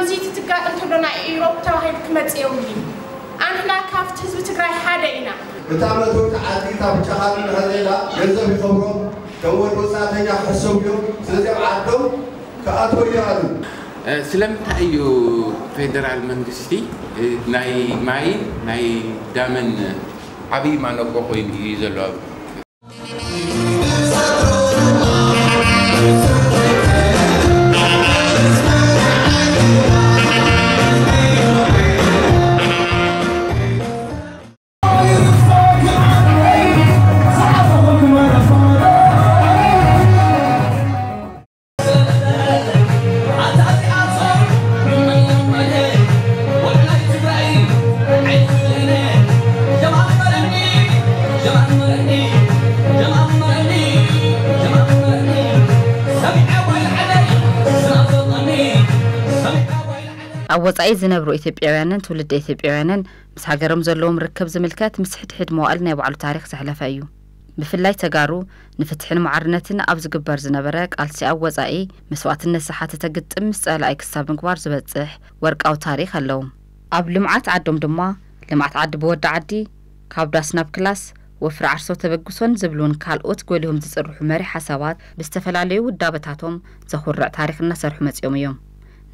እዚ ትትጋጥ እንተሎ ናይ ኢሮብ ተባሂሉ ክመጽእ የብሉን። ኣንሕና ካብቲ ህዝቢ ትግራይ ሓደ ኢና። እታ መእተዊት ዓዲ እታ ብጫ ካርድ እንድሕር ዘይላ ገንዘብ ይኸብሮም፣ ከም ወዲ ወጻእተኛ ክሕሰቡ እዮም። ስለዚ ኣብ ዓዶም ክኣትዎ ይኽኣሉ። ስለምንታይ እዩ ፌደራል መንግስቲ ናይ ማይን ናይ ዳምን ዓብዪ ማነቆ ኮይኑ እዩ ዘሎ? ኣብ ወጻኢ ዝነብሩ ኢትዮጵያውያንን ትውልደ ኢትዮጵያውያንን ምስ ሃገሮም ዘለዎም ርክብ ዝምልከት ምስ ሕድሕድ መዋእል ናይ ባዕሉ ታሪኽ ዘሕለፈ እዩ። ብፍላይ ተጋሩ ንፍትሕን ማዕርነትን ኣብ ዝግበር ዝነበረ ቃልሲ ኣብ ወጻኢ መስዋእትነት ዝሓተተ ግጥም ምስ ጸላኢ ክሳብ ምግባር ዝበጽሕ ወርቃዊ ታሪኽ ኣለዎም። ኣብ ልምዓት ዓዶም ድማ ልምዓት ዓዲ ብወዲ ዓዲ፣ ካብ ዳስ ናብ ክላስ፣ ወፍሪ ዓርሶ ተበግሶን ዝብሉን ካልኦት ጎሊሆም ዝጽርሑ መሪሕ ሓሳባት ብዝተፈላለዩ ውዳበታቶም ዘኹርዕ ታሪኽ እናሰርሑ መጺኦም እዮም።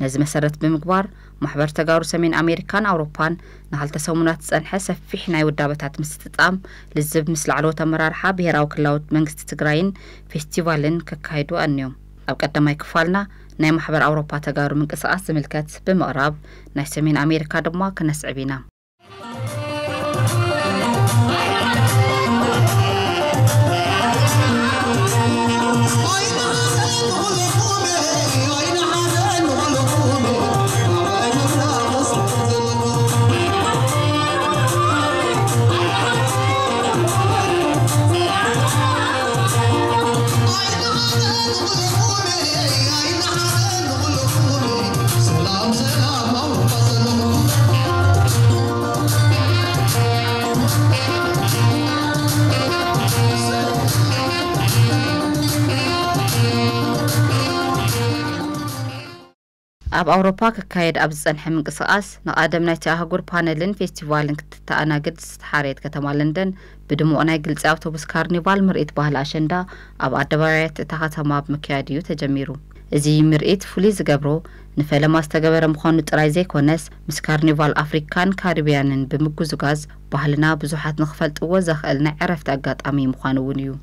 ነዚ መሰረት ብምግባር ማሕበር ተጋሩ ሰሜን ኣሜሪካን ኣውሮፓን ንክልተ ሰሙናት ዝጸንሐ ሰፊሕ ናይ ውዳበታት ምስጥጣም ልዝብ ምስ ላዕለዎት ኣመራርሓ ብሄራዊ ክልላዊ መንግስቲ ትግራይን ፌስቲቫልን ከካይዱ ኣንዮም። ኣብ ቀዳማይ ክፋልና ናይ ማሕበር ኣውሮፓ ተጋሩ ምንቅስቃስ ዝምልከት ብምቕራብ ናይ ሰሜን ኣሜሪካ ድማ ክነስዕብ ኢና። ኣብ ኣውሮፓ ክካየድ ኣብ ዝጸንሐ ምንቅስቓስ፣ ንቓደም ናይቲ ኣህጉር ፓነልን ፌስቲቫልን ክትተኣናግድ ዝተሓረየት ከተማ ለንደን፣ ብድሙቕ ናይ ግልጺ ኣውቶቡስ ካርኒቫል ምርኢት ባህሊ ኣሸንዳ ኣብ ኣደባባያት እታ ከተማ ብምክያድ እዩ ተጀሚሩ። እዚ ምርኢት ፍሉይ ዝገብሮ፣ ንፈለማ ዝተገበረ ምዃኑ ጥራይ ዘይኮነስ፣ ምስ ካርኒቫል ኣፍሪካን ካሪብያንን ብምጉዝጋዝ፣ ባህልና ብዙሓት ንኽፈልጥዎ ዘኽእል ናይ ዕረፍቲ ኣጋጣሚ ምዃኑ እውን እዩ።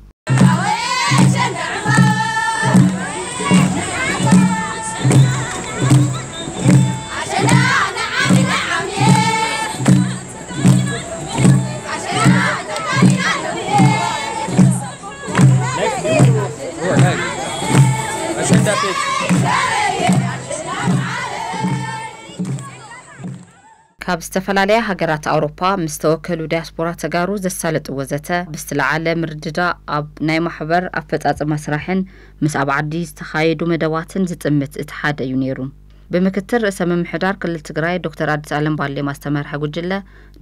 ካብ ዝተፈላለያ ሃገራት ኣውሮፓ ምስ ተወከሉ ዲያስፖራ ተጋሩ ዘሳለጥዎ ዘተ፣ ብዝተለዓለ ምርድዳእ ኣብ ናይ ማሕበር ኣፈጻጽማ ስራሕን ምስ ኣብ ዓዲ ዝተኻየዱ መደባትን ዝጥምት እቲ ሓደ እዩ ነይሩ። ብምክትል ርእሰ ምምሕዳር ክልል ትግራይ ዶክተር ኣዲስ ኣለም ባሌማ ዝተመርሐ ጉጅለ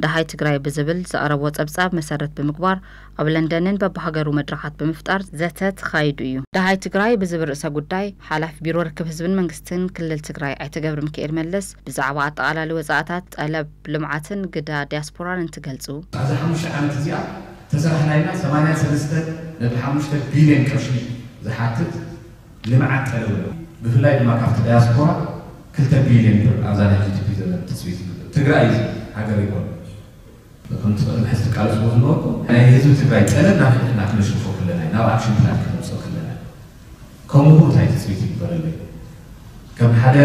ደሃይ ትግራይ ብዝብል ዘቕረቦ ጸብጻብ መሰረት ብምግባር ኣብ ለንደንን በብሃገሩ መድረኻት ብምፍጣር ዘተ ተኻይዱ እዩ። ደሃይ ትግራይ ብዝብል ርእሰ ጉዳይ ሓላፊ ቢሮ ርክብ ህዝብን መንግስትን ክልል ትግራይ ኣይተ ገብረሚካኤል መለስ ብዛዕባ ኣጠቓላሊ ወጻእታት፣ ጠለብ ልምዓትን ግዳ ዲያስፖራን እንትገልጹ፣ ኣብዚ ሓሙሽተ ዓመት እዚኣ ተሰራሕናይና ሰማንያን ሰለስተ ነጥቢ ሓሙሽተ ቢልዮን ቅርሺ ዝሓትት ልምዓት ጠለብ ኣሎ። ብፍላይ ድማ ካብቲ ዳያስፖራ ክልተ ቢልዮን ብር ኣብዛ ናይ ጂ ዲ ፒ ዘለና ትፅቢት ይግበር። ትግራይ ሃገር ይኮን ከምቲ ቅድሚ ሕዚ ትቃለስዎ ዝነበርኩም ናይ ህዝቢ ትግራይ ጠለብ ናብ ሕድሕድና ክነሽርፎ ከለና እዩ፣ ናብ ኣክሽን ፕላን ክነምፅኦ ከለና እዩ። ከምኡ እንታይ ትፅቢት ይግበረለይ? ከም ሓደ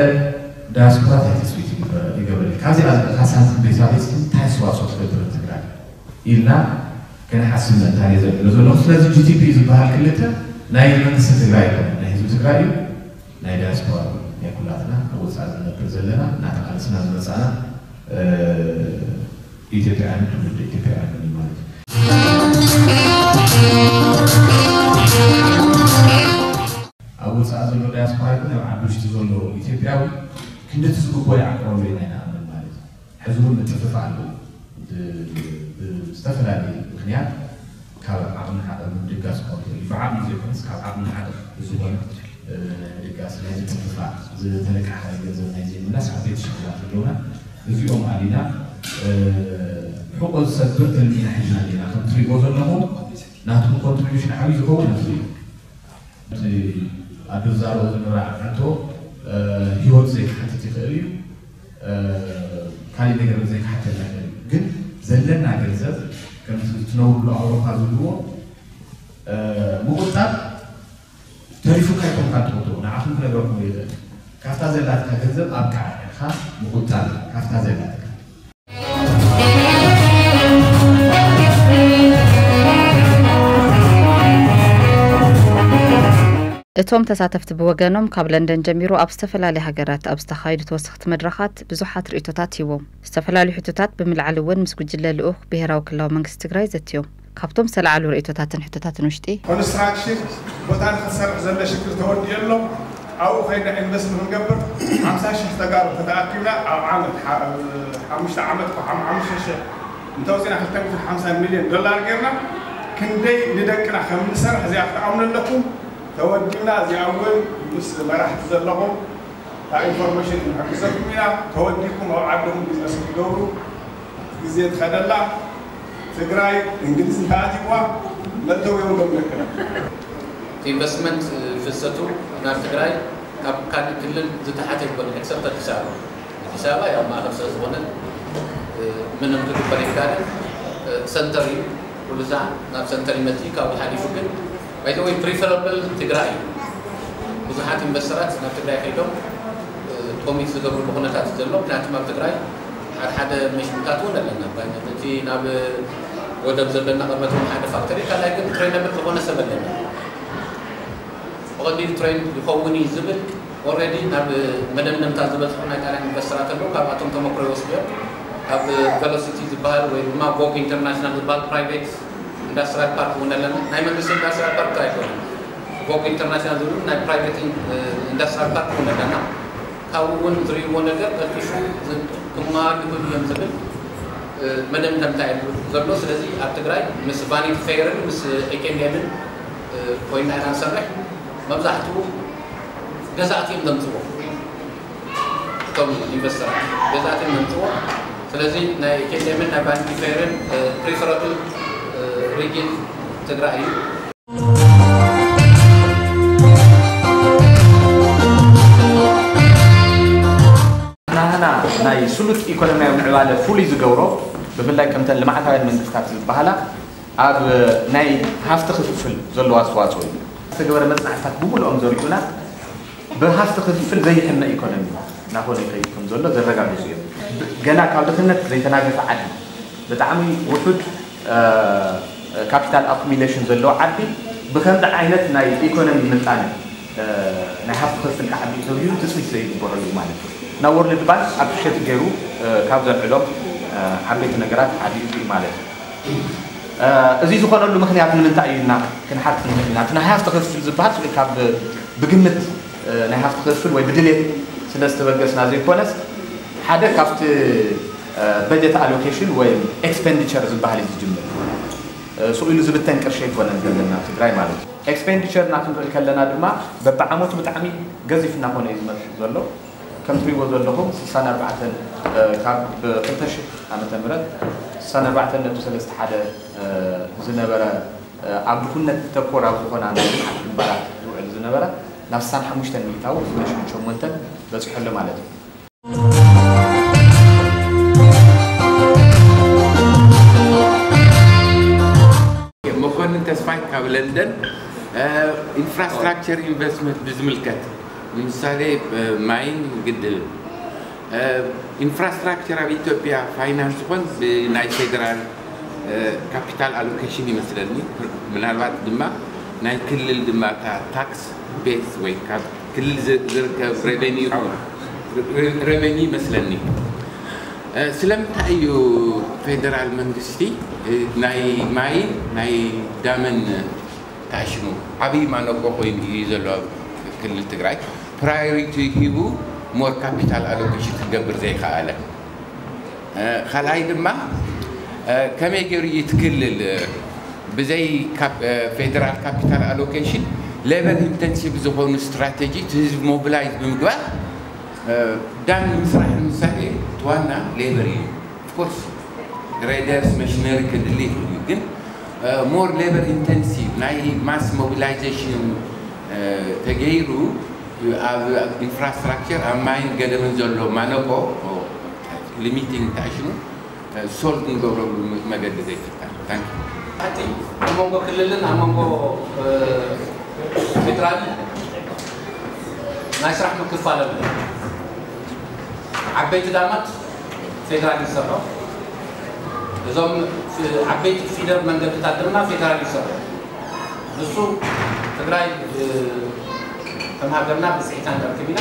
ዳያስፖራ እንታይ ትፅቢት ይግበረ- ይገብረለይ? ካብዚኣ ዝመፅኣ ሳንቲም ቤት ኣቤት እንታይ ኣስተዋፅኦ ትገብር ትግራይ ኢልና ክንሓስብ ምእንታን እየ ዘብሎ ዘለኹ። ስለዚ ጂ ቲ ፒ ዝበሃል ክልተ ናይ መንግስቲ ትግራይ ኣይኮነን፣ ናይ ህዝቢ ትግራይ እዩ፣ ናይ ዳያስፖራ እዩ፣ ናይ ኩላትና ኣብ ወፃኢ ዝነብር ዘለና እናተቃለስና ዝመፃና እ፣ ኢትዮጵያውያንን ትውልደ ኢትዮጵያውያንን እዩ ማለት እዩ። ኣብ ወፃኢ ዘሎ ዳያስፖራ ይኹን ኣብ ዓዲ ውሽጢ ዘሎ ኢትዮጵያዊ ክንድቲ ዝግቦ ይዓቅረሉ ኢና ኢና ንኣምን ማለት እዩ። ሕዚ እውን ምጥፍፋእ ኣሎ። ብ- ብ- ብዝተፈላለየ ምክንያት ካብ ዓቕሚ ንሓደ ምድጋፍ ክኸውን ይኽእል እዩ። ብዓቕሚ ዘይኮነስ ካብ ዓቕሚ ንሓደ ብዝኾነ ድጋስ ናይ ምጥፍፋእ ዝተለቃሓ ገንዘብ ናይ ዘይምላስ ዓበይቲ ሽግራት ኣለውና። እዚኦም ኣሊና ሕቆ ዝሰብር ትልሚና ሒዝና ኣለና። ከም ትሪእዎ ዘለኹም ናትኩም ኮንትሪቢሽን ዓብዪ ዝኸውን ኣብዚ እዩ። እቲ ኣዶ ዝዛረቦ ዝንራዕ ሕቶ ህይወት ዘይክሓትት ይኽእል እዩ። ካሊእ ነገር ዘይክሓተልና ይኽእል እዩ። ግን ዘለና ገንዘብ ከምቲ ትነብርሉ ኣውሮፓ ዝብልዎ ምቁጣብ ተሪፉካ ኣይኮንካ ትቁጥቦ፣ ንዓኹም ክነግረኩም ይኽእል። ካብታ ዘላትካ ገንዘብ ኣብቅዓ ኢልካ ምቁጣብ ካብታ ዘላትካ። እቶም ተሳተፍቲ ብወገኖም ካብ ለንደን ጀሚሩ ኣብ ዝተፈላለያ ሃገራት ኣብ ዝተኻየዱ ተወሰኽቲ መድረኻት ብዙሓት ርእቶታት ሂቦም። ዝተፈላለዩ ሕቶታት ብምልዓል እውን ምስ ጉጅለ ልኡኽ ብሄራዊ ክልላዊ መንግስቲ ትግራይ ዘትዮም። ካብቶም ዝተለዓሉ ርእቶታትን ሕቶታትን ውሽጢ። ኮንስትራክሽን ቦታ ንክትሰርሕ ዘሎ ሽግር ተወዲኡ ኣሎ። ኣብኡ ከይድና ኢንቨስት ንክንገብር ሓምሳ ሽሕ ተጋሩ ተተኣኪብና ኣብ ዓመት ሓሙሽተ ዓመት ሓሙሽተ ሽሕ እንተውፅና ክልተ ሚእትን ሓምሳን ሚልዮን ዶላር ጌርና ክንደይ ንደቅና ከም ንሰርሕ እዚኣ ክትኣምኑ ኣለኩም። ተወዲብና እዚኣ እውን ምስ መራሕቲ ዘለኹም እታ ኢንፎርሜሽን ክንሕግዘኩም ኢና። ተወዲብኩም ኣብ ዓድኹም ቢዝነስ ክትገብሩ ግዜ ትኸደላ። ትግራይ እንግሊዝ እንተኣትይዋ መእተዊ የብሎም ደቅና። ኢንቨስትመንት ፍሰቱ ናብ ትግራይ ካብ ካልእ ክልል ዝተሓተ ኣይኮነን except ኣዲስ ኣበባ። ኣዲስ ኣበባ ያው ማእኸል ስለ ዝኾነት ምንም ክግበር ኣይከኣልን። ሰንተር እዩ ኩሉ ሳዕ ናብ ሰንተር ይመፅእ እዩ። ካብኡ ሓሊፉ ግን by the way preferable ትግራይ እዩ። ብዙሓት ኢንቨስተራት ናብ ትግራይ ከይዶም ኮሚት ዝገብርሉ ኩነታት እዩ ዘሎ። ምክንያቱም ኣብ ትግራይ ሓደ ሓደ መሽንታት እውን ኣለና። ብዓይነት እቲ ናብ ወደብ ዘለና ቅድመ እቲ ሓደ ፋክተሪ ካልኣይ ግን ትሬነብል ዝኾነ ሰብ ኣለና። ብቐሊሉ ትሬን ይኸውን እዩ ዝብል already ናብ መደምደምታ ዝበፅሑ ናይ ጣልያን ኢንቨስተራት ኣለዉ። ካብኣቶም ተመክሮ ይወስዱ እዮም። ካብ ቨሎሲቲ ዝበሃል ወይ ድማ ቮግ ኢንተርናሽናል ዝበሃል ፕራይቬት ኢንዳስትሪያል ፓርክ እውን ኣለና። ናይ መንግስቲ ኢንዳስትሪያል ፓርክ ጥራይ ኣይኮነን። ቮግ ኢንተርናሽናል ዝብሉ ናይ ፕራይቬት ኢንዳስትሪያል ፓርክ እውን ኣለና። ካብኡ እውን ዝርእይዎ ነገር ቀልጢፉ ክመሃር ይኽእሉ እዮም ዝብል መደምደምታ እዩ ዘሎ። ስለዚ ኣብ ትግራይ ምስ ቫኒቲ ፌይርን ምስ ኤች ኤንድ ኤምን ኮይንና ኢና ንሰርሕ። መብዛሕትኡ ገዛእቲ እዮም ዘምፅዎ፣ እቶም ኢንቨስተራት ገዛእቲ እዮም ዘምፅዎ። ስለዚ ናይ ኤች ኤንድ ኤምን ናይ ቫኒቲ ፌይርን ፕሪፈረብል ሪጅን ትግራይ እዩ። ናህና ናይ ስሉጥ ኢኮኖሚያዊ ምዕባለ ፍሉይ ዝገብሮ ብፍላይ ከምተን ልምዓታውያን መንግስታት ዝበሃላ ኣብ ናይ ሃፍቲ ክፍፍል ዘለዎ ኣስተዋፅኦ እዩ። ዝተገበረ መፅናዕትታት ብምልኦም ዘሪኡና ብሃፍቲ ክፍፍል ዘይሕመ ኢኮኖሚ እናኾነ ይኸይድ ከም ዘሎ ዘረጋግፁ እዮም። ገና ካብ ድኽነት ዘይተናገፈ ዓዲ ብጣዕሚ ውሑድ ካፒታል ኣኩሚሌሽን ዘለዎ ዓዲ ብኸምዚ ዓይነት ናይ ኢኮኖሚ ምጣነ ናይ ሃፍቲ ክፍፍል ክዓቢ እዩ ተብሂሉ ትፅቢት ዘይግበረሉ እዩ ማለት እዩ። ናብ ወርልድ ባንክ ኣፕሪሼት ገይሩ ካብ ዘልዕሎም ዓበይቲ ነገራት ሓደ እዩ ማለት እዩ። እዚ ዝኾነሉ ምኽንያት ንምንታይ እዩ ኢልና ክንሓትት ንኽእል ኢና። እቲ ናይ ሃፍቲ ክፍፍል ዝበሃል ስቕ ኢልካ ብግምት ናይ ሃፍቲ ክፍፍል ወይ ብድሌት ስለ ዝተበገስና ዘይኮነስ ሓደ ካብቲ በጀት ኣሎኬሽን ወይ ኤክስፔንዲቸር ዝበሃል እዩ ዝጅምር። ስቕ ኢሉ ዝብተን ቅርሺ ኣይኮነን ዘለና ኣብ ትግራይ ማለት እዩ። ኤክስፔንዲቸርና ክንርኢ ከለና ድማ በብዓመቱ ብጣዕሚ ገዚፍ እናኾነ እዩ ዝመፅእ ዘሎ። ከም ትሪእዎ ዘለኹም ስሳን ኣርባዕተን ካብ ክልተ ሽሕ ዓመተ ምህረት ስሳን ኣርባዕተን ነጥቢ ሰለስተ ሓደ ዝነበረ ኣብ ድኹነት ተኮር ኣብ ዝኾና ናይ ልምዓት ግንባራት ዝውዕል ዝነበረ ናብ ስሳን ሓሙሽተን ሚእታዊ ክልተ ሽሕን ሸሞንተን በፂሑ ኣሎ ማለት እዩ። መኮንን ተስፋይ ካብ ለንደን። ኢንፍራስትራክቸር ኢንቨስትመንት ብዝምልከት ንምሳሌ ማይን ግድብን ኢንፍራስትራክቸር ኣብ ኢትዮጵያ ፋይናንስ ይኾን ብናይ ፌደራል ካፒታል ኣሎኬሽን ይመስለኒ። ምናልባት ድማ ናይ ክልል ድማ እታ ታክስ ቤዝ ወይ ካብ ክልል ዝርከብ ሬቨኒ ይመስለኒ። ስለምንታይ እዩ ፌደራል መንግስቲ ናይ ማይን ናይ ዳምን ተኣሽሙ ዓብዪ ማነቆ ኮይኑ እዩ ዘሎ ኣብ ክልል ትግራይ ፕራዮሪቲ ሂቡ ሞር ካፒታል ኣሎኬሽን ክገብር ዘይከኣለ። ካልኣይ ድማ ከመይ ገይሩ እዩ እቲ ክልል ብዘይ ፌደራል ካፒታል ኣሎኬሽን ሌበር ኢንተንሲቭ ዝኾኑ ስትራቴጂ ህዝቢ ሞቢላይዝ ብምግባር ዳም ንምስራሕ ንምሳሌ ዋና ሌበር እዩ። ኦፍኮርስ ግሬደርስ መሽነሪ ክድሊ ይኽእል እዩ፣ ግን ሞር ሌበር ኢንተንሲቭ ናይ ማስ ሞቢላይዜሽን ተገይሩ ኣብ ኢንፍራስትራክቸር ኣብ ማይን ገደብን ዘሎ ማነቆ ሊሚቲንግ ታሽኑ ሶልቭ ንገብረሉ መገዲ ዘይፍታ። ኣብ መንጎ ክልልን ኣብ መንጎ ፌደራል ናይ ስራሕ ምክፋል ኣሎ። ዓበይቲ ዳማት ፌደራል ይሰርሖ፣ እዞም ዓበይቲ ፊደር መንገድታት ድማ ፌደራል ይሰርሖ። ንሱ ትግራይ ከም ሃገርና ብፅሒታ ንረክብ ኢና።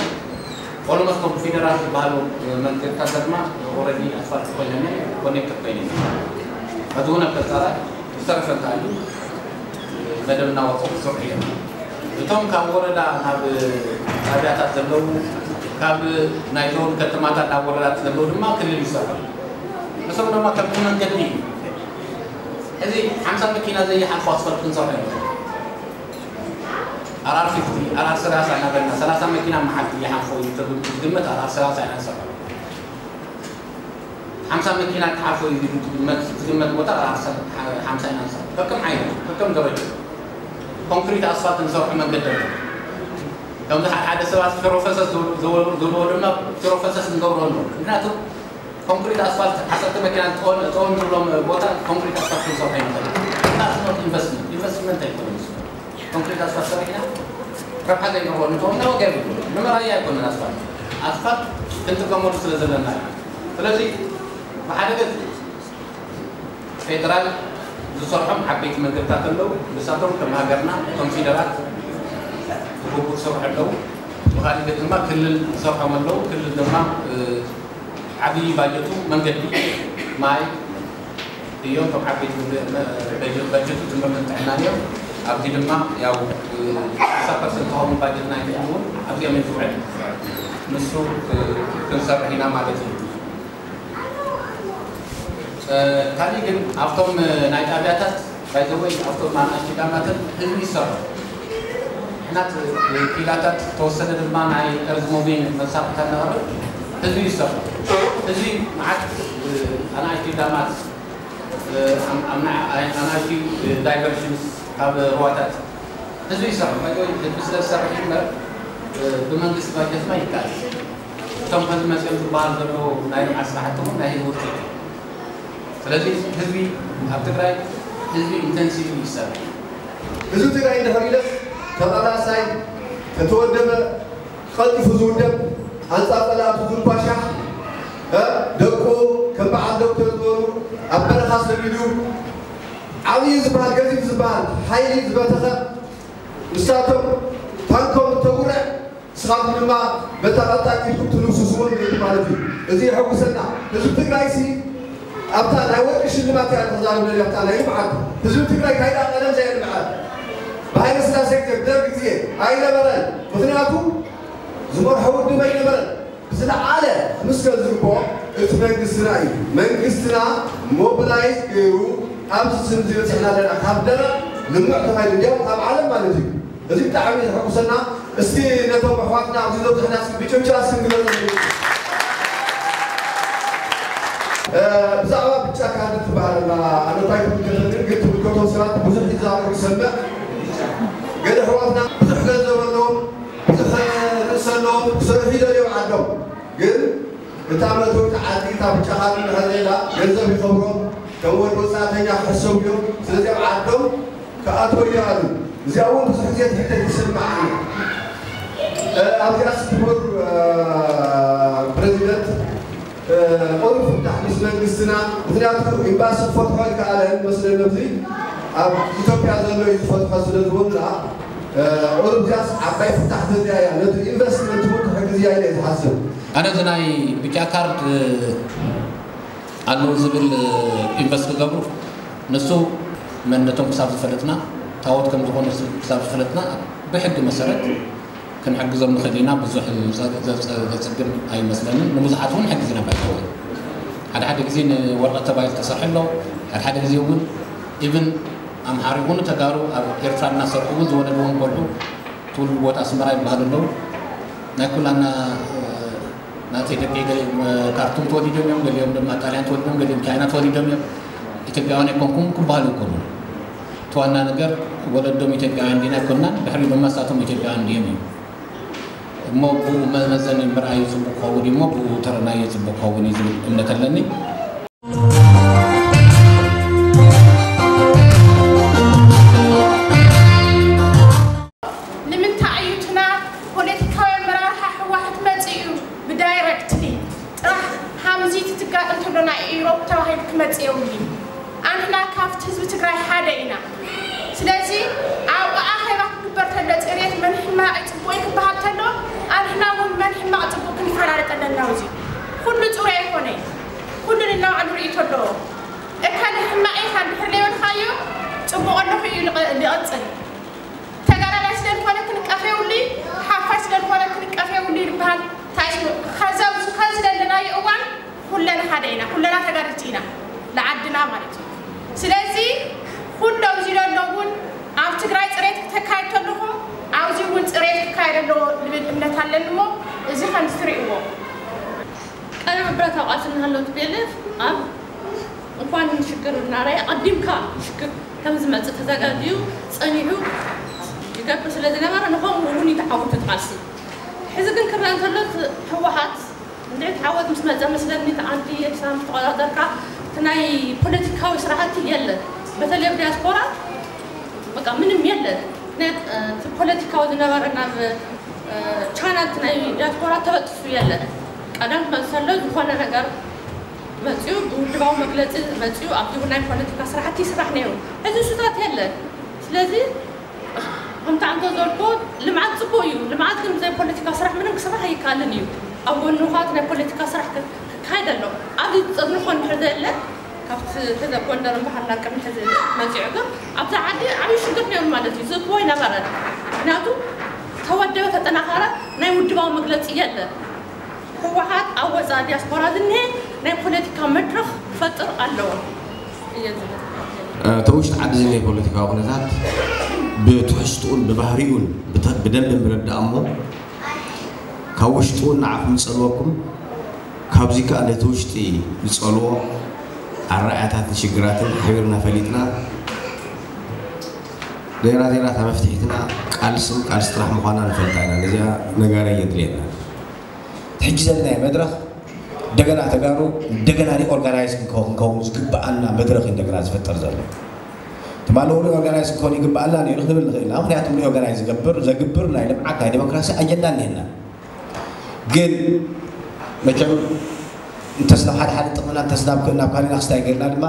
ኦሎሞስት ከም ፊደራል ዝበሃሉ መንገድታት ድማ ኦረዲ ኣስፋልት ኮይነን ኮኔክትድ ኮይነን በዚ እውን ኣብ ቀፃላ ዝተረፈ እንተሃልዩ መደብ እናወፀ ክሰርሑ እዮም። እቶም ካብ ወረዳ ናብ ጣብያታት ዘለዉ ካብ ናይ ዞን ከተማታት ናብ ወረዳት ዘለዉ ድማ ክልል ይሰርሑ። እሶም ድማ ከምቲ መንገዲ እዩ። እዚ ሓምሳ መኪና ዘይሓልፎ ኣስፋልት ክንሰርሖ እዮም። ኣራር ፊፍቲ ኣራር ሰላሳ እናበልና ሰላሳ መኪና መሓልቲ ይሓልፎ እዩ ተብሉ ዝግመት ኣራር ሰላሳ ኢና ንሰርሖ። ሓምሳ መኪና ክሓልፎ እዩ ዝግመት ዝግመት ቦታ ኣራር ሓምሳ ኢና ንሰርሖ። ከከም ዓይነት ከከም ደረጃ ኮንክሪት ኣስፋልት ንሰርሖ መንገዲ ኣሎ። ከምዚ ሓደ ሓደ ሰባት ፊሮፈሰስ ዝብልዎ ድማ ፊሮፈሰስ ንገብሮ ኣሎ። ምክንያቱ ኮንክሪት ኣስፋልት ዓሰርተ መኪና ጠወን ጠወን ዝብሎም ቦታ ኮንክሪት ኣስፋልት ክንሰርሖ ይንኽእል። ኢንቨስትመንት ኢንቨስትመንት ኣይኮነን። ኮንክሪት ኣስፋልት ሰሪሕና ረብሓ ዘይረኽቦ እንተኾንና ዋጋ የብሉ። ንመራያ ኣይኮነን ኣስፋልት ኣስፋልት ክንጥቀመሉ ስለ ዘለና እዩ። ስለዚ ብሓደ ገፅ ፌደራል ዝሰርሖም ዓበይቲ መንገድታት ኣለዉ። ንሳቶም ከም ሃገርና እቶም ፊደራት ብግቡእ ዝሰርሑ ኣለዉ። ብኻሊእ ገፅ ድማ ክልል ዝሰርሖም ኣለዉ። ክልል ድማ ዓብዪ ባጀቱ መንገዲ፣ ማይ እዮም። እቶም ዓበይቲ ባጀቱ ትምህርትን ጥዕናን እዮም። ኣብዚ ድማ ያው ሓምሳ ፐርሰንት ዝኸውን ባጀት ናይ ክልል እውን ኣብዚኦም እዩ ዝውዕል። ንሱ ክንሰርሕ ኢና ማለት እዩ። ካሊእ ግን ኣብቶም ናይ ጣብያታት ባይዘወይ ኣብቶም ኣናእሽቲ ዳማትን ህዝቢ ይሰርሑ። ንሕና ኪላታት ተወሰነ ድማ ናይ እርዝ ሙቪንግ መሳርሕታት ነቕርብ ህዝቢ ይሰርሑ። ህዝቢ መዓት ኣናእሽቲ ዳማት ኣናእሽቲ ዳይቨርሽንስ ካብ ሩዋታት ህዝቢ ይሰርሑ። ባይዘወይ ህዝቢ ስለ ዝሰርሕ እምበር ብመንግስቲ ባጀት ማ ይካል እቶም ከዚ መፅኦም ዝበሃል ዘለዉ ናይ ልምዓት ስራሕቲ እውን ናይ ህዝቢ ውፅኢት እዩ። ስለዚ ህዝቢ ኣብ ትግራይ ህዝቢ ኢንተንሲቭ ይሰርሕ። ህዝቢ ትግራይ እንድሕር ኢለስ ተቓላሳይ ተተወደበ ቀልጢፉ ዝውደብ ኣንፃር ፀላእቱ ዝንኳሻሕ ደቁ ከም በዓል ዶክተር ዝበሉ ኣብ በረኻ ሰዲዱ ዓብዪ ዝበሃል ገዚፍ ዝበሃል ሓይሊ ዝበተኸ ንሳቶም ታንኮም እተጉርዕ ንስኻትኩም ድማ በታ ቀጣን ኢድኩም ትልብሱ ስሙር ማለት እዩ። እዚ የሐጉሰና። ህዝቢ ትግራይ ሲ ኣብታ ናይ ወርቂ ሽልማት እያ ተዛርብ ነሪያ ኣብታ ናይ ልምዓት ህዝቢ ትግራይ ካይዳ ቀደም ዘየልምዐ ብሃይለ ስላሴ ግዜ ብደርግ ግዜ ኣይነበረን። ምክንያቱ ዝመርሖ ውድብ ኣይነበረን። ብዝለዓለ ክምስገን ዝግብኦ እቲ መንግስትና እዩ። መንግስትና ሞቢላይዝ ገይሩ ኣብዚ ስም ዝበፅሕና ኣለና ካብ ደረቕ ልምዕ ተባሂሉ እንዲያውም ኣብ ዓለም ማለት እዩ። እዚ ብጣዕሚ ዘሐጉሰና። እስቲ ነቶም ኣሕዋትና ኣብዚ ዘብዝሕና እስኪ ብጭብጨባ እስኪ ንግለፀሉ። ብዛዕባ ብጫ ካርድ ትበሃል ኣላ ኣነታይ ትምልከተኒ ግን ትምልከቶም ሰባት ብዙሕ ይዛረቡ ይሰምዕ። ገለ ኣሕዋትና ብዙሕ ገንዘብ ኣለዎም ብዙሕ ርእሲ ኣለዎም ክሰርሑ ይደልዮም ዓዶም ግን እታ መእተዊት ዓዲ እታ ብጫ ካርድ እንድሕር ዘይላ ገንዘብ ይኸብሮም ከም ወዲ ወፃእተኛ ክሕሰቡ እዮም። ስለዚ ኣብ ዓዶም ክኣትዎ ይኽኣሉ። እዚኣ እውን ብዙሕ ግዜ ትሕተት ይስምዓኒ። ኣብዚኣስ ክቡር ፕረዚደንት ቁሩብ ፍታሕ ምስ መንግስትና ምክንያቱ ኤምባሲ ክፈትሖ ኣይከኣለን መስለኒ ኣብዚ ኣብ ኢትዮጵያ ዘሎ እዩ ዝፈትሖ ስለ ዝበሉና ቁሩብ እዚኣስ ዓባይ ፍታሕ ተዚኣ እያ ነቲ ኢንቨስትመንት እውን ትሕግዝ እያ ኢለ እየ ዝሓስብ። ኣነ እዚ ናይ ብጫ ካርድ ኣለዉ ዝብል ኢንቨስት ክገብሩ ንሱ መንነቶም ክሳብ ዝፈለጥና ታቦት ከም ዝኾኑ ክሳብ ዝፈለጥና ብሕጊ መሰረት ክንሕግዞም ንኽእል ኢና። ብዙሕ ዘፅግም ኣይመስለንን። ንብዙሓት እውን ሕግዝና ባይተወ ሓደ ሓደ ግዜ ንወረቐት ተባሂሉ ተሰርሑ ኣሎ። ሓደ ሓደ ግዜ እውን ኢቭን ኣምሓሩ ይኹኑ ተጋሩ ኣብ ኤርትራ እናሰርሑ እውን ዝወለድዎም ቆልዑ ትውልዲ ቦታ ኣስመራ ይበሃሉ ኣለዉ። ናይ ኩላና ናተይ ደቂ ገሊኦም ካርቱም ተወሊዶም እዮም፣ ገሊኦም ድማ ጣልያን ተወሊዶም፣ ገሊኦም ቻይና ተወሊዶም እዮም። ኢትዮጵያውያን ኣይኮንኩም ክበሃሉ ይኮኑ። እቲ ዋና ነገር ወለዶም ኢትዮጵያውያን ዲና ኣይኮንናን፣ ድሕሪ ድማ ንሳቶም ኢትዮጵያውያን ድዮም እዮም። እሞ ብኡ መመዘኒ ምርኣዩ ጽቡቕ ክኸውን እዩ እሞ ብኡ ተረናዮ ጽቡቕ ክኸውን እዩ ዝብል እምነት ኣለኒ። ንምንታይ እዩ እቲ ናብ ፖለቲካዊ ኣመራርሓ ህወሓት መፂኡ ብዳይረክትሊ ጥራሕ ሃምዚ ትትጋጥ እንተሎ ናይ ኢሮብ ተባሂሉ ክመፅእ የብሉን። ኣንሕና ካብቲ ህዝቢ ትግራይ ሓደ ኢና። ስለዚ ኣብኡ ኣኼባ ክግበር ተሎ ፅሬት መን ሕማቕ እዩ ፅቡቕ እዩ ክበሃል ተሎ ኣንሕና እውን መን ሕማቕ ፅቡቕ ክንፈላለጥ ኣለና። እዚ ኩሉ ፅሩይ ኣይኮነይ። ኩሉ ንናባዕሉ ርእይቶ ኣለዎ። እከለ ሕማቕ ኢኻ እንድሕር ዘይበልካዮ ፅቡቕ ኣለኹ እዩ ዝቐ- ዝቐፅል። ተጋዳላይ ስለ ዝኾነ ክንቀፍ የብሉይ፣ ሓፋሽ ስለ ዝኾነ ክንቀፍ የብሉይ ይበሃል። እንታይ ስለ ከዚ ኣብዚ ከዚ ዘለናዮ እዋን ኩለና ሓደ ኢና፣ ኩለና ተጋደልቲ ኢና፣ ንዓድና ማለት እዩ። ስለዚ ኩሉ ኣብዚ ዘሎ እውን ኣብ ትግራይ ፅሬት ክተካይድ ከለኹም ኣብዚ እውን ፅሬት ክካየድ ኣለዎ ዝብል እምነት ኣለኒ እሞ እዚ ከምዚ ትርእይዎ። ቀደም ብረታዊ ቃልሲ እናሃለወ ቲ ፒ ኤል ኤፍ ኣብ እንኳን ሽግር እናረኣየ ኣቐዲምካ ሽግር ከም ዝመፅእ ተዘጋጅዩ ፀኒሑ ይገብር ስለ ዝነበረ ንኸምኡ እውን እዩ ተዓዊቱ እቲ ቃልሲ። ሕዚ ግን ክረአ እንተሎ እቲ ህወሓት እንድዒ እቲ ዓወት ምስ መፀ መስለኒ እቲ ዓዲ ኤርትራ ምስ ተቆፃፀርካ እቲ ናይ ፖለቲካዊ ስራሕቲ የለን። በተለይ ኣብ ዲያስፖራ በቃ ምንም የለን። ናይ እቲ ፖለቲካዊ ዝነበረ ናብ ቻናል ናይ ዲያስፖራ ተበጢሱ የለን። ቀደም ክመፅእ ከሎ ዝኾነ ነገር መፅኡ ብውድባዊ መግለፂ መፅኡ ኣብቲ ናይ ፖለቲካ ስራሕቲ ይስራሕ ነይሩ። ሕዚ እሱታት የለን። ስለዚ ከምቲ ኣንተ ዘልኮ ልምዓት ፅቡቅ እዩ። ልምዓት ግን ብዘይ ፖለቲካ ስራሕ ምንም ክስራሕ ኣይከኣልን እዩ። ኣብ ጎንኻ እቲ ናይ ፖለቲካ ስራሕ ክካየድ ኣሎ። ኣብዚ ዝፀንኾ እንድሕር ዘየለ ካብቲ ሕዚ ኣብ ጎንደር እምበሃርና ቅድሚ ሕዚ መፂዑ ግን ኣብዛ ዓዲ ዓብዪ ሽግር ነይሩ ማለት እዩ። ዝእክቦ ኣይነበረን። ምክንያቱ ተወደበ ተጠናኸረ ናይ ውድባዊ መግለፂ የለን። ህወሓት ኣብ ወፃኢ ዲያስፖራ ዝኒሀ ናይ ፖለቲካ መድረኽ ክፈጥር ኣለዎ እየ ዝብል። እቲ ውሽጢ ዓዲ ዝኒሀ ፖለቲካዊ ኩነታት ብትሕዝትኡን ብባህሪኡን ብተ- ብደንቢ ምርዳእ እሞ ካብ ውሽጢ እውን ንዓኹም ዝፀልወኩም ካብዚ ከኣ ነቲ ውሽጢ ዝፀልዎ ኣረኣእያታትን ሽግራትን ሓቢርና ፈሊጥና ዜራ ዜራ እታ መፍትሒትና ቃልስን ቃልሲ ጥራሕ ምዃና ንፈልጣ ኢና። ነዚኣ ነጋሪ የድልየና። ሕጂ ዘለናዮ መድረኽ እንደገና ተጋሩ እንደገና ሪኦርጋናይዝ ክንከውን ዝግበኣና መድረኽ እዩ እንደገና ዝፍጠር ዘሎ። ትማሊ እውን ሪኦርጋናይዝ ክኸውን ይግበኣና ነይሩ ክንብል ንኽእል ኢና። ምክንያቱም ሪኦርጋናይዝ ዝገብር ዘግብር ናይ ልምዓት ናይ ዴሞክራሲ ኣጀንዳ እኒሀና። ግን መቸም እንተስ ናብ ሓደ ሓደ ጥቕምና እንተስ ናብ ናብ ካሊእና ክስታይ ገይርና ድማ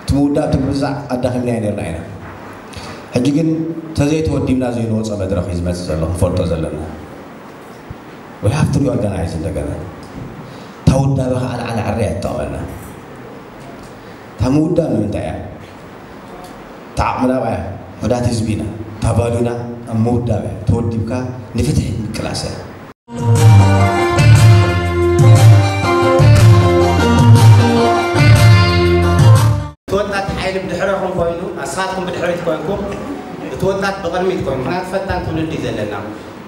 እቲ ምውዳእ እቲ ምርዛዕ ኣዳኺምናዮ ነይርና ኢና። ሕጂ ግን ተዘይተወዲብና ዘይንወፆ መድረኽ እዩ ዝመፅእ ዘሎ ክንፈልጦ ዘለና። We have to reorganize እንደገና። እታ ውዳበ ከዓ ንዓና ዕረ እያ ትጠቕመና። እታ ምውዳብ ንምንታይ እያ? እታ ዓቕምና ብኣ እያ። ውሑዳት ህዝቢ ኢና። እታ ቫሉና ኣብ ምውዳብ እያ። ተወዲብካ ንፍትሒ ምቅላስ እያ። እቲ ወጣት ሓይሊ ብድሕረኹም ኮይኑ ንስኻትኩም ብድሕሪት ኮይንኩም እቲ ወጣት ብቕድሚት ኮይኑ ምክንያቱ ፈጣን ትውልዲ እዩ ዘለና።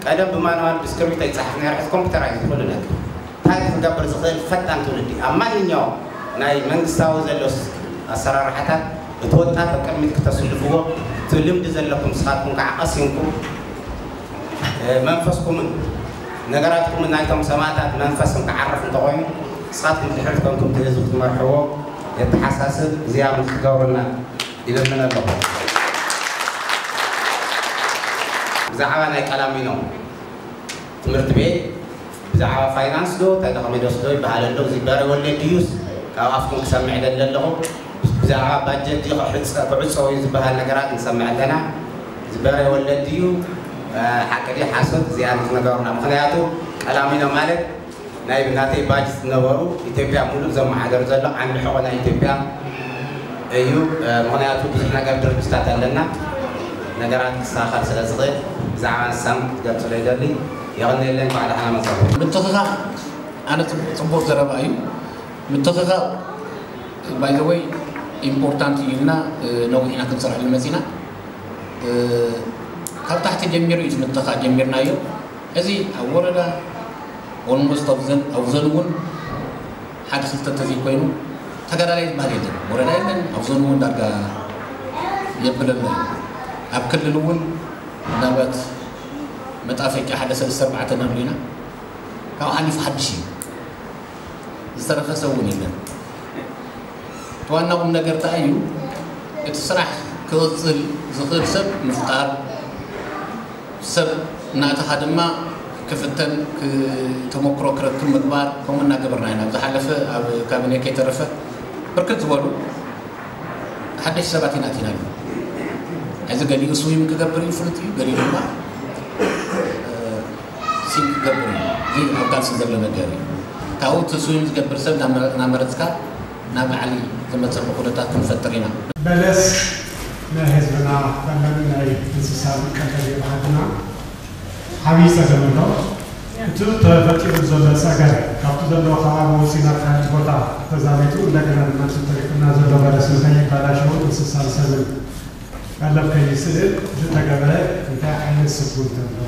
ቀደም ብማንዋል ብስክርቢቶ ይፀሓፍ ነይሩ ሕዚ ኮምፒተራይዝ ኩሉ ነገር። እንታይ ክገብር ዝኽእል ፈጣን ትውልዲ ኣብ ማንኛውም ናይ መንግስታዊ ዘሎ ኣሰራርሓታት እቲ ወጣት ኣብ ቅድሚት ክተስልፍዎ እቲ ልምዲ ዘለኩም ንስኻትኩም ከዓ ቀሲንኩም መንፈስኩምን ነገራትኩምን ናይቶም ሰማእታት መንፈስም ክዓርፍ እንተኾይኑ ንስኻትኩም ድሕሪት ኮንኩም እቲ ህዝቢ ክትመርሕዎ የተሓሳስብ እዚኣ ምስ ትገብሩልና ይልምን ኣለኹ። ብዛዕባ ናይ ቀላሚኖ ትምህርቲ ቤት ብዛዕባ ፋይናንስ ዶ እንታይ ዶ ከመይ ዶስ ዶ ይበሃል ኣሎ እዚ በረ ወለድ ድዩስ ካብ ኣፍኩም ክሰምዕ ደሊ ኣለኹ። ብዛዕባ ባጀት ድዩ ክዕፀ- ክዕፀው እዩ ዝበሃል ነገራት ንሰምዕ ኣለና። እዚ በረ ወለድ ድዩ ሓቂ ድዩ ሓሶት እዚኣ ንክነገሩና። ምክንያቱ ቀላሚኖ ማለት ናይ ናተይ ባጅ ዝነበሩ ኢትዮጵያ ሙሉእ ዘመሓደር ዘሎ ዓንዲ ሕቆ ናይ ኢትዮጵያ እዩ። ምክንያቱ ብዙሕ ነገር ድርጅታት ኣለና ነገራት ክስተኻኸል ስለ ዝኽእል ብዛዕባ ንሳም ክትገልፅሎ ይደሊ። የቐንየለይ። እንኳዕ ደሓና መፃኹም። ምትኽኻእ ኣነ ፅቡቕ ዘረባ እዩ። ምትኽኻእ ባይዘወይ ኢምፖርታንት እዩ ኢልና ነዊሕና ክንሰርሐሉ መፂና። ካብ ታሕቲ ጀሚሩ እዩ፣ ትምህርቲ ከዓ ጀሚርናዮ። እዚ ኣብ ወረዳ ኦልሞስት ኣብዘን ኣብዘን እውን ሓደ ክልተ እንተዘይኮይኑ ተጋዳላይ ዝበሃል የለን፣ ወረዳ የለን፣ ኣብዘን እውን ዳርጋ የብለና እዩ። ኣብ ክልል እውን ምናልባት መጣፈቂያ ሓደ ሰለስተ ኣርባዕተ ነሉ ኢና። ካብኡ ሓሊፉ ሓድሽ እዩ፣ ዝተረፈ ሰብ እውን የለን። እቲ ዋና ቁም ነገር እንታይ እዩ? እቲ ስራሕ ክቕፅል ዝኽእል ሰብ ምፍጣር፣ ሰብ እናእተኻ ድማ ክፍተን፣ ክ- ተመክሮ ክረክብ ምግባር። ከምኡ እናገበርና ኢና። ኣብ ዝሓለፈ ኣብ ካቢኔ ከይተረፈ ብርክት ዝበሉ ሓደሽ ሰባት ኢና ኣቲና ኣለና። እዚ ገሊኡ ስዊም ክገብር እዩ፣ ፍሉጥ እዩ፣ ገሊኡ ድማ ሲንክ ክገብር እዩ። እዚ ኣብ ቃልሲ ዘሎ ነገር እዩ። ካብኡ እቲ ስዊም ዝገብር ሰብ እናመረ- እናመረፅካ ናብ ላዕሊ ዝመፀሉ ኩነታት ክንፈጥር ኢና። በለስ ናይ ህዝብና፣ ፈለሚ ናይ እንስሳ መቀለቢ ባህልና ዓብዪ ጸገም ኣሎ። እቲ ተፈጢሩ ዘሎ ጸገም ካብቲ ዘለዎ ከባቢ ወፂና ካልእ ቦታ ተዛሚቱ እንደገና ድማ እቲ ተሪፉና ዘሎ በለስ ንኸይባላሸው እንስሳን ሰብን ቀለብ ከይስእል ዝተገበረ እንታይ ዓይነት ስጉምቲ ኣሎ?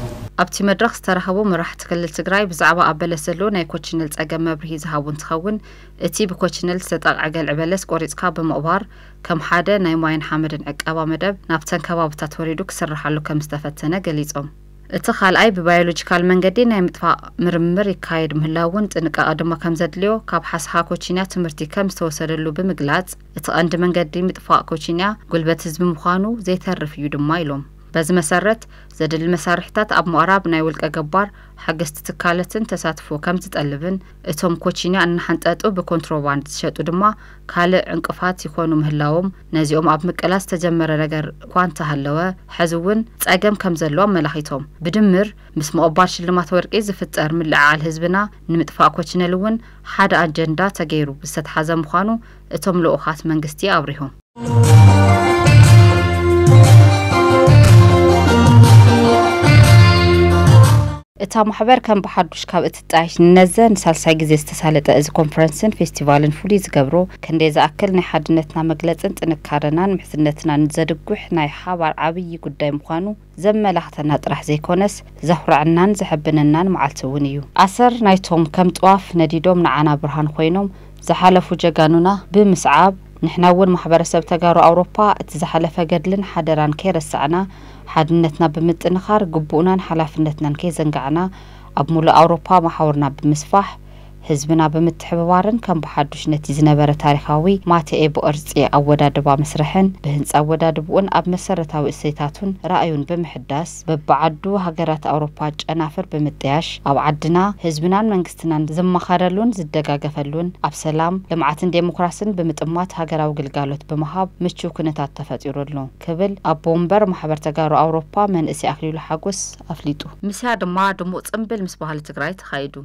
ኣብቲ መድረኽ ዝተረኸቡ መራሕቲ ክልል ትግራይ ብዛዕባ ኣብ በለስ ዘሎ ናይ ኮችነል ጸገም መብርሂ ዝሃቡ እንትኸውን፣ እቲ ብኮችነል ዝተጠቕዐ ገልዒ በለስ ቆሪጽካ ብምቕባር ከም ሓደ ናይ ማይን ሓመድን ዕቀባ መደብ ናብተን ከባብታት ወሪዱ ክስርሓሉ ከም ዝተፈተነ ገሊጾም። እቲ ካልኣይ ብባዮሎጂካል መንገዲ ናይ ምጥፋእ ምርምር ይካየድ ምህላው እውን ጥንቃቐ ድማ ከም ዘድልዮ ካብ ሓስኻ ኮቺንያ ትምህርቲ ከም ዝተወሰደሉ ብምግላጽ፣ እቲ ቀንዲ መንገዲ ምጥፋእ ኮቺንያ ጉልበት ህዝቢ ምዃኑ ዘይተርፍ እዩ ድማ ኢሎም። በዚ መሰረት ዘድሊ መሳርሕታት ኣብ ምቕራብ ናይ ውልቀ ገባር ሓገዝቲ ትካላትን ተሳትፎ ከም ዝጠልብን እቶም ኮቺንያ እናሓንጠጡ ብኮንትሮባንድ ዝሸጡ ድማ ካልእ ዕንቅፋት ይኾኑ ምህላዎም ነዚኦም ኣብ ምቅላስ ዝተጀመረ ነገር እኳ እንተሃለወ፣ ሕዚ እውን ጸገም ከም ዘሎ ኣመላኺቶም። ብድምር ምስ ምቕባል ሽልማት ወርቂ ዝፍጠር ምልዕዓል ህዝብና ንምጥፋእ ኮችነል እውን ሓደ ኣጀንዳ ተገይሩ ዝተትሓዘ ምዃኑ እቶም ልኡኻት መንግስቲ ኣብሪሆም። እታ ማሕበር ከም ብሓዱሽ ካብ እትጣየሽ ንነዘ ንሳልሳይ ግዜ ዝተሳለጠ እዚ ኮንፈረንስን ፌስቲቫልን ፍሉይ ዝገብሮ፣ ክንደይ ዝኣክል ናይ ሓድነትና መግለጽን ጥንካረናን ምሕዝነትናን ዘድጉሕ ናይ ሓባር ዓብዪ ጉዳይ ምዃኑ ዘመላኽተና ጥራሕ ዘይኮነስ፣ ዘኹርዐናን ዘሐብነናን መዓልቲ እውን እዩ። ኣሰር ናይቶም ከም ጥዋፍ ነዲዶም ንዓና ብርሃን ኮይኖም ዝሓለፉ ጀጋኑና ብምስዓብ፣ ንሕና እውን ማሕበረሰብ ተጋሩ ኣውሮፓ እቲ ዝሓለፈ ገድልን ሓደራን ከይረሳዕና፣ ሓድነትና ብምጥንኻር፣ ግቡእናን ሓላፍነትናን ከይዘንጋዕና፣ ኣብ ሙሉእ ኣውሮፓ መሓውርና ብምስፋሕ፣ ህዝብና ብምትሕብባርን ከም ብሓዱሽ ነቲ ዝነበረ ታሪኻዊ ማቴኤ ብቕርጺ ኣወዳድባ መስርሕን ብህንጻ ኣወዳድብኡን ኣብ መሰረታዊ እሴታቱን ራእዩን ብምሕዳስ፣ በብዓዱ ሃገራት ኣውሮፓ ጨናፍር ብምጥያሽ፣ ኣብ ዓድና ህዝብናን መንግስትናን ዝመኻረሉን ዝደጋገፈሉን፣ ኣብ ሰላም፣ ልምዓትን ዴሞክራስን ብምጥማት ሃገራዊ ግልጋሎት ብምሃብ ምቹው ኩነታት ተፈጢሩ ኣሎ ክብል ኣቦ ወንበር ማሕበር ተጋሩ ኣውሮፓ መንእሰይ ኣክሊሉ ሓጎስ ኣፍሊጡ። ምስያ ድማ ድሙቕ ጽምብል ምስ ባህሊ ትግራይ ተኻይዱ።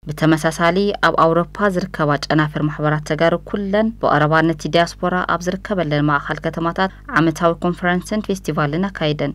ብተመሳሳሊ፣ ኣብ ኣውሮፓ ዝርከባ ጨናፍር ማሕበራት ተጋሩ ኩለን ብቐረባ ነቲ ዲያስፖራ ኣብ ዝርከበለን ማእኸል ከተማታት ዓመታዊ ኮንፈረንስን ፌስቲቫልን ኣካይደን።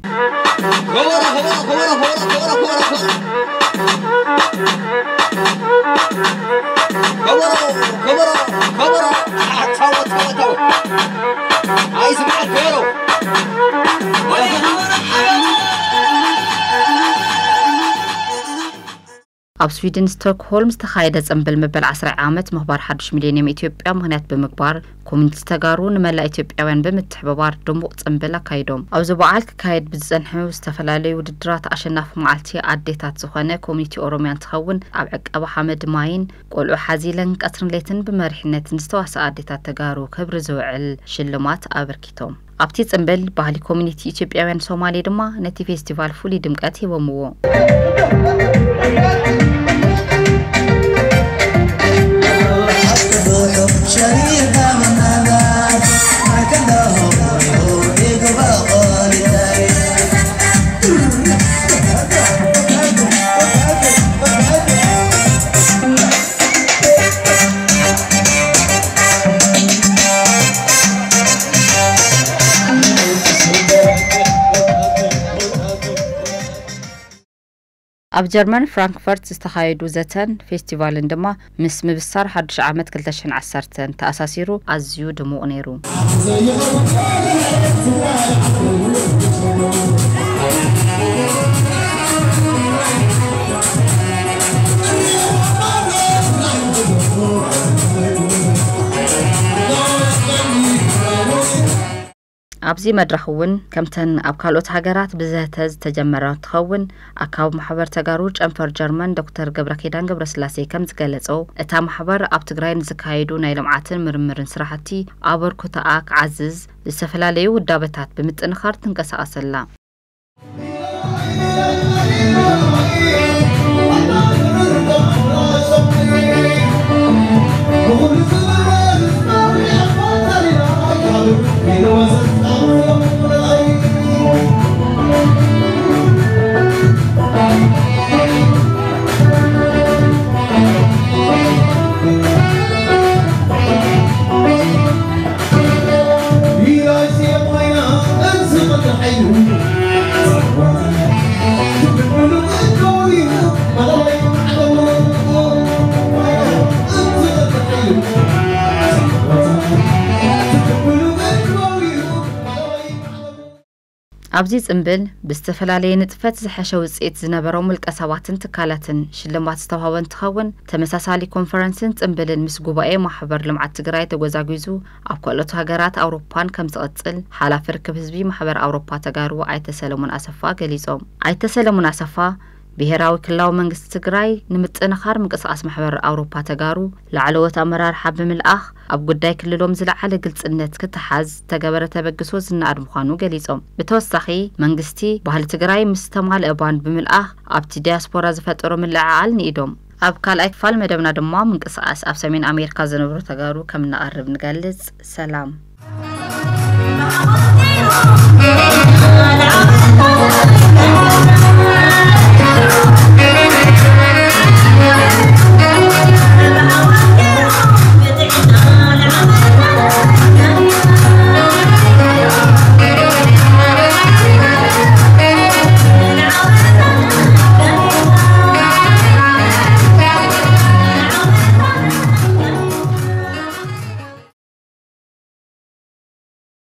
ኣብ ስዊድን ስቶክሆልም ዝተኻየደ ጽምብል መበል ዓስራይ ዓመት ምኽባር ሓዱሽ ሚሌኒየም ኢትዮጵያ ምኽንያት ብምግባር፣ ኮሚኒቲ ተጋሩ ንመላእ ኢትዮጵያውያን ብምትሕብባር ድሙቕ ጽምብል ኣካይዶም። ኣብዚ በዓል ክካየድ ብዝጸንሑ ዝተፈላለዩ ውድድራት ኣሸናፊ መዓልቲ ኣዴታት ዝኾነ ኮሚኒቲ ኦሮሚያ እንትኸውን፣ ኣብ ዕቀባ ሓመድ ማይን ቆልዑ ሓዚለን ቀትርን ለይትን ብመሪሕነት ንዝተዋስኣ ኣዴታት ተጋሩ ክብሪ ዝውዕል ሽልማት ኣበርኪቶም። ኣብቲ ጽምብል ባህሊ ኮሚኒቲ ኢትዮጵያውያን ሶማሌ ድማ ነቲ ፌስቲቫል ፍሉይ ድምቀት ሂቦምዎ። ኣብ ጀርመን ፍራንክፈርት ዝተኻየዱ ዘተን ፌስቲቫልን ድማ ምስ ምብሳር ሓዱሽ ዓመት ክልተ ሽሕን ዓሰርተን ተኣሳሲሩ ኣዝዩ ድሙቕ ነይሩ። ኣብዚ መድረኽ እውን ከምተን ኣብ ካልኦት ሃገራት ብዘተ ዝተጀመረ እንትኸውን፣ ኣካቢ ማሕበር ተጋሩ ጨንፈር ጀርመን ዶክተር ገብረኪዳን ገብረስላሴ ከም ዝገለጾ፣ እታ ማሕበር ኣብ ትግራይ ንዝካየዱ ናይ ልምዓትን ምርምርን ስራሕቲ ኣበርክቶኣ ክዓዝዝ ዝተፈላለዩ ውዳበታት ብምጥንኻር ትንቀሳቐስ ኣላ። ኣብዚ ጽምብል ብዝተፈላለየ ንጥፈት ዝሐሸ ውጽኢት ዝነበሮም ውልቀ ሰባትን ትካላትን ሽልማት ዝተዋህቦ እንትኸውን፣ ተመሳሳሊ ኮንፈረንስን ጽምብልን ምስ ጉባኤ ማሕበር ልምዓት ትግራይ ተጎዛጒዙ ኣብ ካልኦት ሃገራት ኣውሮፓን ከም ዝቕጽል ሓላፊ ርክብ ህዝቢ ማሕበር ኣውሮፓ ተጋሩ ኣይተ ሰለሙን ኣሰፋ ገሊጾም። ኣይተ ሰለሙን ኣሰፋ ብሄራዊ ክልላዊ መንግስቲ ትግራይ ንምጥንኻር ምንቅስቓስ ማሕበር ኣውሮፓ ተጋሩ ላዕለዎት ኣመራርሓ ብምልኣኽ ኣብ ጉዳይ ክልሎም ዝለዓለ ግልጽነት ክተሓዝ ዝተገበረ ተበግሶ ዝነኣድ ምዃኑ ገሊጾም። ብተወሳኺ መንግስቲ ባህሊ ትግራይ ምስ ተማልአ ባንድ ብምልኣኽ ኣብቲ ዲያስፖራ ዝፈጠሮ ምልዕዓል ንኢዶም። ኣብ ካልኣይ ክፋል መደብና ድማ ምንቅስቓስ ኣብ ሰሜን ኣሜሪካ ዝነብሩ ተጋሩ ከም እነቐርብ ንገልጽ። ሰላም።